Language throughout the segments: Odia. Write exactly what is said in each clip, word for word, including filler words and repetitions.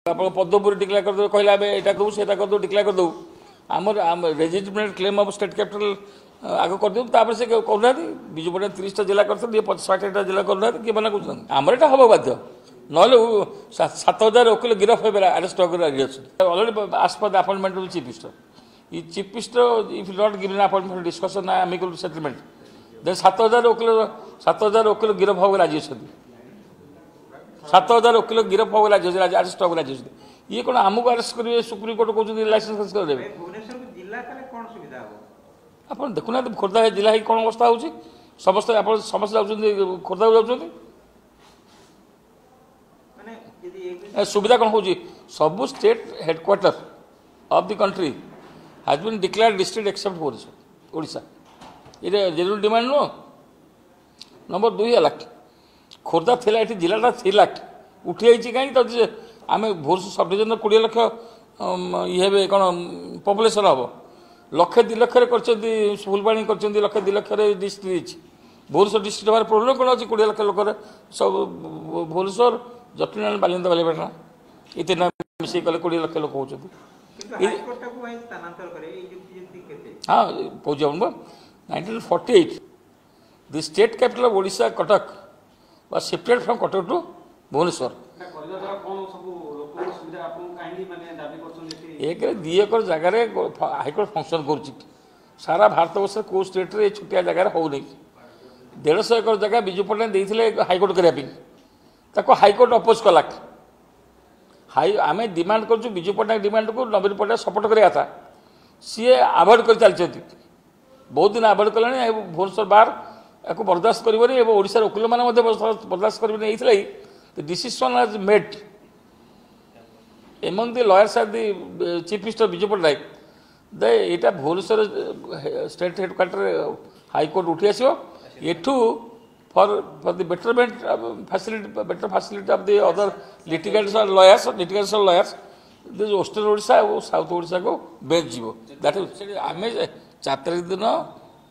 ଆପଣ ପଦ୍ମପୁର ଡିକ୍ଲେୟାର କରିଦେବେ କହିଲେ ଆମେ ଏଇଟା କରିବୁ ସେଇଟା କରିଦେବୁ ଡିକ୍ଲେୟାର କରିଦେବୁ ଆମର ଆମ legitimate claim of state capital ଆଗ କରିଦେବୁ ତାପରେ ସେ କରୁନାହାନ୍ତି ବିଜୁ ପଟ୍ଟନାୟକ ତିରିଶଟା ଜିଲ୍ଲା କରିଥିଲେ ଇଏ ପଚାଶ ଷାଠିଏଟା ଜିଲ୍ଲା କରୁନାହାନ୍ତି କିଏ ମନା କରୁଛନ୍ତି ଆମର ଏଇଟା ହେବ ବାଧ୍ୟ ନହେଲେ ସାତ ହଜାର ଓକିଲ ଗିରଫ ହେବେ ଆରେଷ୍ଟ ହେବାକୁ ରେଡ଼ି ଅଛନ୍ତି already ask for the appointment of chief minister E chief minister if not given appointment discussion amicable settlement then ସାତ ହଜାର ଓକିଲ ସାତ ହଜାର ଓକିଲ ଗିରଫ ହେବାକୁ ରାଜି ଅଛନ୍ତି ସାତ ହଜାର ଓକିଲ ଗିରଫ ହେବାକୁ ରାଜି ଅଛନ୍ତି ଆରେଷ୍ଟ ହେବାକୁ ରାଜି ଅଛନ୍ତି ଇଏ କ'ଣ ଆମକୁ ଆରେଷ୍ଟ କରିବେ ସୁପ୍ରିମକୋର୍ଟ କହୁଛନ୍ତି ଲାଇସେନ୍ସ କରିଦେବେ ଭୁବନେଶ୍ୱରକୁ ଜିଲ୍ଲା କଲେ କ'ଣ ସୁବିଧା ହେବ ଆପଣ ଦେଖୁନାହାନ୍ତି ଖୋର୍ଦ୍ଧା ଜିଲ୍ଲା ହେଇକି କ'ଣ ଅବସ୍ଥା ହେଉଛି ସମସ୍ତେ ଆପଣ ସମସ୍ତେ ଯାଉଛନ୍ତି ଖୋର୍ଦ୍ଧାକୁ ଯାଉଛନ୍ତି ମାନେ ଯଦି ଏ ସୁବିଧା କ'ଣ ହେଉଛି ସବୁ state headquarter of the country has been declared district except Odisha Odisha ଏଇଟା ଜେନୁଇନ୍ ଡିମାଣ୍ଡ ନୁହଁ ନମ୍ବର ଦୁଇ ହେଲା ଖୋର୍ଦ୍ଧା ଥିଲା ଏଠି ଜିଲ୍ଲାଟା ଥିଲା ଉଠିଯାଇଛି କାହିଁକି ତ ଯେ ଆମେ ଭୁବନେଶ୍ୱର ସବ୍ ଡିଭିଜନର କୋଡ଼ିଏ ଲକ୍ଷ ଇଏ ହେବେ କ'ଣ ପପୁଲେସନ୍ ହେବ ଲକ୍ଷେ ଦୁଇ ଲକ୍ଷରେ କରିଛନ୍ତି ଫୁଲବାଣୀ କରିଛନ୍ତି ଲକ୍ଷେ ଦୁଇ ଲକ୍ଷରେ ଡିଷ୍ଟ୍ରିକ୍ଟ ହେଇଛି ଭୁବନେଶ୍ୱର ଡିଷ୍ଟ୍ରିକ୍ଟ ହେବାର ପ୍ରୋବ୍ଲେମ୍ କ'ଣ ଅଛି କୋଡ଼ିଏ ଲକ୍ଷ ଲୋକରେ ସବୁ ଭୁବନେଶ୍ୱର ଜଟଣୀ ବାଲିଅନ୍ତା ବାଲିପାଟଣା ଏ ତିନିଟା ମିଶେଇ କଲେ କୋଡ଼ିଏ ଲକ୍ଷ ଲୋକ ହେଉଛନ୍ତି କିନ୍ତୁ ହାଇକୋର୍ଟଟାକୁ ଭାଇ ସ୍ଥାନାନ୍ତର କରେ ଏଇ ଯୁକ୍ତି ଯୁକ୍ତି କେତେ ହଁ କହୁଛି ଆପଣଙ୍କୁ nineteen forty eight the state capital of Odisha Cuttack was shifted from Cuttack to Bhubaneswar ଏଟା କରିବା ଦ୍ୱାରା କ'ଣ ସବୁ ଲୋକଙ୍କ ସୁବିଧା ଆପଣଙ୍କୁ କାହିଁକି ମାନେ ଦାବି କରୁଛନ୍ତି ଏଠି ଏକରେ ଦୁଇ ଏକର ଜାଗାରେ ହାଇକୋର୍ଟ ଫଙ୍କସନ୍ କରୁଛି ସାରା ଭାରତବର୍ଷରେ କେଉଁ ଷ୍ଟେଟ୍ରେ ଏ ଛୋଟିଆ ଜାଗାରେ ହେଉନି ଦେଢ଼ଶହ ଏକର ଜାଗା ବିଜୁ ପଟ୍ଟନାୟକ ଦେଇଥିଲେ ହାଇକୋର୍ଟ କରିବା ପାଇଁ ତାକୁ ହାଇକୋର୍ଟ ଅପୋଜ କଲା ହାଇ ଆମେ ଡିମାଣ୍ଡ କରୁଛୁ ବିଜୁ ପଟ୍ଟନାୟକ ଡିମାଣ୍ଡକୁ ନବୀନ ପଟ୍ଟନାୟକ ସପୋର୍ଟ କରିବା କଥା ସିଏ ଆଭଏଡ଼ କରି ଚାଲିଛନ୍ତି ବହୁତ ଦିନ ଆଭଏଡ଼ କଲେଣି ଏବଂ ଭୁବନେଶ୍ୱର ବାର ଏହାକୁ ବରଦାସ୍ତ କରିବନି ଏବଂ ଓଡ଼ିଶାର ଓକିଲମାନେ ମଧ୍ୟ ବରଦାସ୍ତ କରିବେନି ଏଇଥିଲାଗି the decision has made among the lawyers and the uh, chief minister Biju Patnaik ଦେ ଏଇଟା ଭୁବନେଶ୍ୱର ଷ୍ଟେଟ୍ ହେଡ଼କ୍ୱାର୍ଟର ହାଇକୋର୍ଟ ଉଠି ଆସିବ ଏଠୁ for for the betterment facility better facility of the other litigants lawyers litigants lawyers this western Odisha O south ଓଡ଼ିଶାକୁ ବେଞ୍ଚ ଯିବ that ସେଠି ଆମେ ଚାରି ତାରିଖ ଦିନ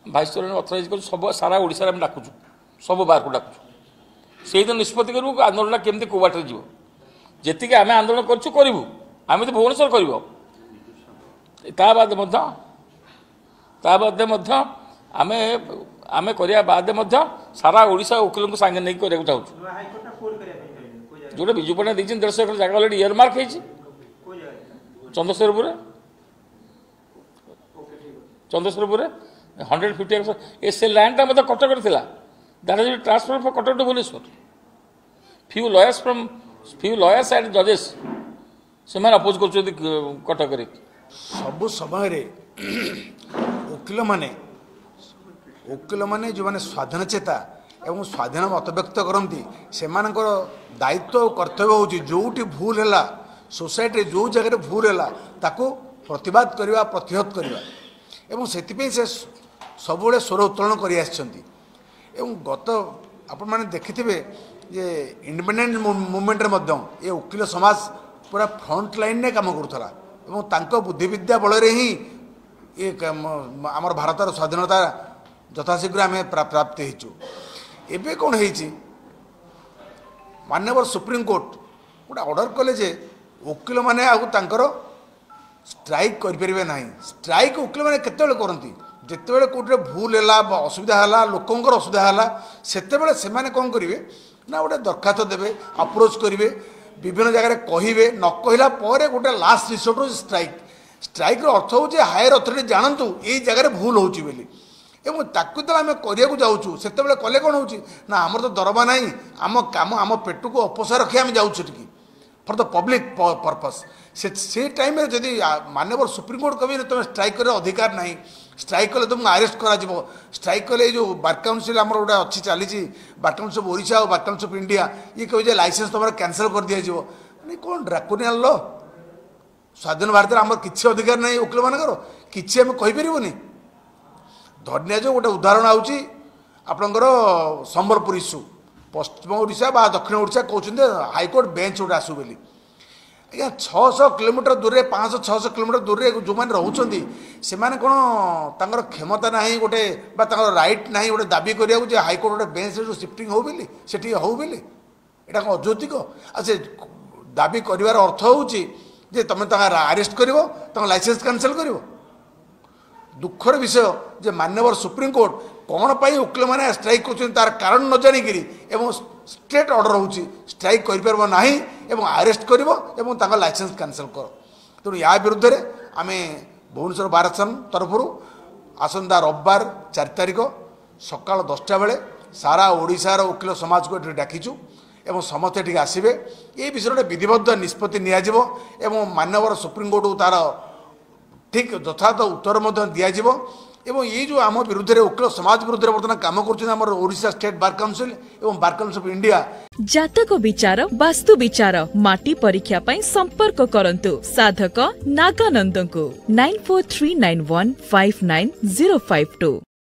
ଭାଇସ୍ ଚେୟାରମ୍ୟାନ୍ ଅଥରାଇଜ୍ କରୁଛୁ ସବୁ ସାରା ଓଡ଼ିଶାରେ ଆମେ ଡାକୁଛୁ ସବୁ ବାରକୁ ଡାକୁଛୁ ସେଇଦିନ ନିଷ୍ପତ୍ତି କରିବୁ ଆନ୍ଦୋଳନଟା କେମିତି କେଉଁ ବାଟରେ ଯିବ ଯେତିକି ଆମେ ଆନ୍ଦୋଳନ କରିଛୁ କରିବୁ ଆମେ ତ ଭୁବନେଶ୍ୱର କରିବ ତା ବାଦ ମଧ୍ୟ ତା ବାଦେ ମଧ୍ୟ ଆମେ ଆମେ କରିବା ବାଦେ ମଧ୍ୟ ସାରା ଓଡ଼ିଶା ଓକିଲଙ୍କୁ ସାଙ୍ଗେ ନେଇକି କରିବାକୁ ଚାହୁଁଛୁ ନୂଆ ହାଇକୋର୍ଟଟା କୋଉଠି କରିବା ପାଇଁ ଚାହୁଁଛନ୍ତି କୋଉ ଜାଗାରେ ଯେଉଁଟା ବିଜୁ ପଟ୍ଟନାୟକ ଦେଇଛନ୍ତି ଦେଢ଼ଶହ ଏକର ଜାଗା ଅଲରେଡ଼ି ଇୟର ମାର୍କ ହେଇଛି କୋଉ ଜାଗାରେ ଚନ୍ଦ୍ରଶେଖରପୁରରେ ଚନ୍ଦ୍ରଶେଖରପୁରରେ ହଣ୍ଡ୍ରେଡ଼ ଫିଫ୍ଟି ଏକର ଏ ସେ ଲ୍ୟାଣ୍ଡଟା ମଧ୍ୟ କଟକରେ ଥିଲା that is transfer from Cuttack to Bhubaneswar few lawyers from few lawyers and judges ସେମାନେ ଅପୋଜ କରୁଛନ୍ତି କଟକରେ ସବୁ ସମୟରେ ଓକିଲମାନେ ଓକିଲମାନେ ଯେଉଁମାନେ ସ୍ୱାଧୀନ ଚେତା ଏବଂ ସ୍ୱାଧୀନ ମତବ୍ୟକ୍ତ କରନ୍ତି ସେମାନଙ୍କର ଦାୟିତ୍ୱ ଓ କର୍ତ୍ତବ୍ୟ ହେଉଛି ଯେଉଁଠି ଭୁଲ ହେଲା ସୋସାଇଟିରେ ଯେଉଁ ଜାଗାରେ ଭୁଲ ହେଲା ତାକୁ ପ୍ରତିବାଦ କରିବା ପ୍ରତିହତ କରିବା ଏବଂ ସେଥିପାଇଁ ସେ ସବୁବେଳେ ସ୍ୱର ଉତ୍ତୋଳନ କରି ଆସିଛନ୍ତି ଏବଂ ଗତ ଆପଣମାନେ ଦେଖିଥିବେ ଯେ ଇଣ୍ଡିପେଣ୍ଡେଣ୍ଟ ମୁଭମେଣ୍ଟରେ ମଧ୍ୟ ଏ ଓକିଲ ସମାଜ ପୁରା ଫ୍ରଣ୍ଟ ଲାଇନ୍ରେ କାମ କରୁଥିଲା ଏବଂ ତାଙ୍କ ବୁଦ୍ଧିବିଦ୍ୟା ବଳରେ ହିଁ ଏ ଆମର ଭାରତର ସ୍ୱାଧୀନତା ଯଥାଶୀଘ୍ର ଆମେ ପ୍ରାପ୍ତି ହେଇଛୁ ଏବେ କ'ଣ ହେଇଛି ମାନ୍ୟବର ସୁପ୍ରିମକୋର୍ଟ ଗୋଟେ ଅର୍ଡ଼ର କଲେ ଯେ ଓକିଲମାନେ ଆଉ ତାଙ୍କର ଷ୍ଟ୍ରାଇକ୍ କରିପାରିବେ ନାହିଁ ଷ୍ଟ୍ରାଇକ୍ ଓକିଲମାନେ କେତେବେଳେ କରନ୍ତି ଯେତେବେଳେ କେଉଁଠିରେ ଭୁଲ ହେଲା ବା ଅସୁବିଧା ହେଲା ଲୋକଙ୍କର ଅସୁବିଧା ହେଲା ସେତେବେଳେ ସେମାନେ କ'ଣ କରିବେ ନା ଗୋଟେ ଦରଖାସ୍ତ ଦେବେ ଆପ୍ରୋଚ୍ କରିବେ ବିଭିନ୍ନ ଜାଗାରେ କହିବେ ନ କହିଲା ପରେ ଗୋଟେ ଲାଷ୍ଟ ରିସୋର୍ଟ ହେଉଛି ଷ୍ଟ୍ରାଇକ୍ ଷ୍ଟ୍ରାଇକ୍ର ଅର୍ଥ ହେଉଛି ହାୟର ଅଥରିଟି ଜାଣନ୍ତୁ ଏଇ ଜାଗାରେ ଭୁଲ ହେଉଛି ବୋଲି ଏବଂ ତାକୁ ଯେତେବେଳେ ଆମେ କରିବାକୁ ଯାଉଛୁ ସେତେବେଳେ କଲେ କ'ଣ ହେଉଛି ନା ଆମର ତ ଦରମା ନାହିଁ ଆମ କାମ ଆମ ପେଟକୁ ଅପୋଷା ରଖି ଆମେ ଯାଉଛୁ ସେଠିକି ଫର୍ the public purpose ସେ ସେ ଟାଇମ୍ରେ ଯଦି ମାନ୍ୟବର ସୁପ୍ରିମକୋର୍ଟ କହିବେ ତୁମେ ଷ୍ଟ୍ରାଇକ୍ କରିବାର ଅଧିକାର ନାହିଁ ଷ୍ଟ୍ରାଇକ୍ କଲେ ତୁମକୁ ଆରେଷ୍ଟ କରାଯିବ ଷ୍ଟ୍ରାଇକ୍ କଲେ ଏଇ ଯେଉଁ ବାର୍ କାଉନସିଲ୍ ଆମର ଗୋଟେ ଅଛି ଚାଲିଛି ବାର୍ କାଉନସିଲ୍ ଅଫ୍ ଓଡ଼ିଶା ଆଉ ବାର୍ କାଉନସିଲ୍ ଅଫ୍ ଇଣ୍ଡିଆ ଇଏ କହିବେ ଯେ ଲାଇସେନ୍ସ ତୁମର କ୍ୟାନସଲ୍ କରିଦିଆଯିବ ମାନେ କ'ଣ ଡ୍ରାକୋନିଆନ୍ ଲ ସ୍ୱାଧୀନ ଭାରତରେ ଆମର କିଛି ଅଧିକାର ନାହିଁ ଓକିଲମାନଙ୍କର କିଛି ଆମେ କହିପାରିବୁନି ଧରି ନିଆଯାଉ ଗୋଟେ ଉଦାହରଣ ହେଉଛି ଆପଣଙ୍କର ସମ୍ବଲପୁର ଇସ୍ୟୁ ପଶ୍ଚିମ ଓଡ଼ିଶା ବା ଦକ୍ଷିଣ ଓଡ଼ିଶା କହୁଛନ୍ତି ହାଇକୋର୍ଟ ବେଞ୍ଚ ଗୋଟେ ଆସୁ ବୋଲି ଆଜ୍ଞା ଛଅଶହ କିଲୋମିଟର ଦୂରରେ ପାଞ୍ଚଶହ ଛଅଶହ କିଲୋମିଟର ଦୂରରେ ଯେଉଁମାନେ ରହୁଛନ୍ତି ସେମାନେ କ'ଣ ତାଙ୍କର କ୍ଷମତା ନାହିଁ ଗୋଟେ ବା ତାଙ୍କର ରାଇଟ୍ ନାହିଁ ଗୋଟେ ଦାବି କରିବାକୁ ଯେ ହାଇକୋର୍ଟ ଗୋଟେ ବେଞ୍ଚରେ ଯେଉଁ ସିଫ୍ଟିଂ ହେଉ ବୋଲି ସେଠି ହେଉ ବୋଲି ଏଇଟା କ'ଣ ଅଯୌକ୍ତିକ ଆଉ ସେ ଦାବି କରିବାର ଅର୍ଥ ହେଉଛି ଯେ ତୁମେ ତାଙ୍କ ଆରେଷ୍ଟ କରିବ, ତାଙ୍କ ଲାଇସେନ୍ସ କ୍ୟାନସେଲ୍ କରିବ। ଦୁଃଖର ବିଷୟ ଯେ ମାନ୍ୟବର ସୁପ୍ରିମକୋର୍ଟ କ'ଣ ପାଇଁ ଓକିଲମାନେ ଷ୍ଟ୍ରାଇକ୍ କରୁଛନ୍ତି ତାର କାରଣ ନ ଜାଣିକିରି ଏବଂ ଷ୍ଟ୍ରେଟ୍ ଅର୍ଡ଼ର ହେଉଛି ଷ୍ଟ୍ରାଇକ୍ କରିପାରିବ ନାହିଁ ଏବଂ ଆରେଷ୍ଟ କରିବ ଏବଂ ତାଙ୍କ ଲାଇସେନ୍ସ କ୍ୟାନସେଲ୍ କର। ତେଣୁ ୟା ବିରୁଦ୍ଧରେ ଆମେ ଭୁବନେଶ୍ୱର ବାର ଆସୋସିଏସନ୍ ତରଫରୁ ଆସନ୍ତା ରବିବାର ଚାରି ତାରିଖ ସକାଳ ଦଶଟା ବେଳେ ସାରା ଓଡ଼ିଶାର ଓକିଲ ସମାଜକୁ ଏଠି ଡାକିଛୁ ଏବଂ ସମସ୍ତେ ଏଠିକି ଆସିବେ। ଏ ବିଷୟରେ ଗୋଟେ ବିଧିବଦ୍ଧ ନିଷ୍ପତ୍ତି ନିଆଯିବ ଏବଂ ମାନ୍ୟବର ସୁପ୍ରିମକୋର୍ଟକୁ ତାର ଠିକ୍ ଯଥାର୍ଥ ଉତ୍ତର ମଧ୍ୟ ଦିଆଯିବ। ଏବଂ ଏଇ ଯେଉଁ ଆମ ବିରୁଦ୍ଧରେ ଓକିଲ ସମାଜ ବିରୁଦ୍ଧରେ ବର୍ତ୍ତମାନ କାମ କରୁଛନ୍ତି ଆମର ଓଡ଼ିଶା ଷ୍ଟେଟ୍ ବାର୍ କାଉନସିଲ୍ ଏବଂ ବାର୍ କାଉନସିଲ୍ ଅଫ୍ ଇଣ୍ଡିଆ। ଜାତକ ବିଚାର, ବାସ୍ତୁ ବିଚାର, ମାଟି ପରୀକ୍ଷା ପାଇଁ ସମ୍ପର୍କ କରନ୍ତୁ ସାଧକ ନାଗାନନ୍ଦଙ୍କୁ nine four three nine one five nine zero five two.